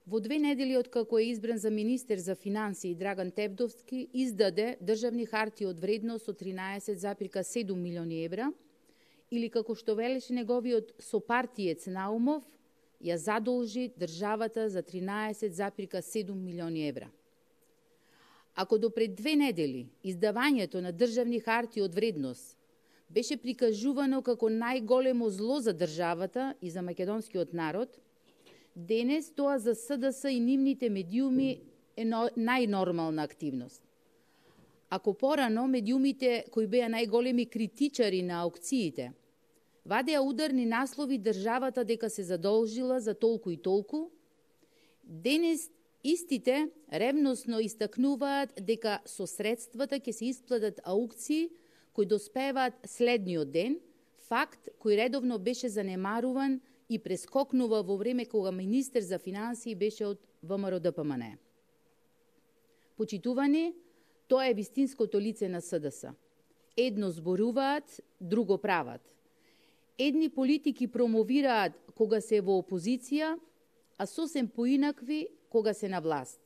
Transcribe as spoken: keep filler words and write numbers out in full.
Во две недели откако е избран за министер за финансии Драган Тевдовски, издаде државни хартии од вредност од тринаесет зарез седум милиони евра, или како што велеше неговиот сопартиец Наумов, ја задолжи државата за тринаесет зарез седум милиони евра. Ако до пред две недели издавањето на државни хартии од вредност беше прикажувано како најголемо зло за државата и за македонскиот народ, денес тоа за СДС и нивните медиуми е најнормална активност. Ако порано медиумите кои беа најголеми критичари на аукциите вадеа ударни наслови државата дека се задолжила за толку и толку, денес истите ревносно истакнуваат дека со средствата ќе се исплатат аукции кои доспеваат следниот ден, факт кој редовно беше занемаруван и прескокнува во време кога министер за финансии беше од ВМРО-ДПМНЕ. Почитувани, тоа е вистинското лице на СДС. Едно зборуваат, друго прават. Едни политики промовираат кога се во опозиција, а сосем поинакви кога се на власт.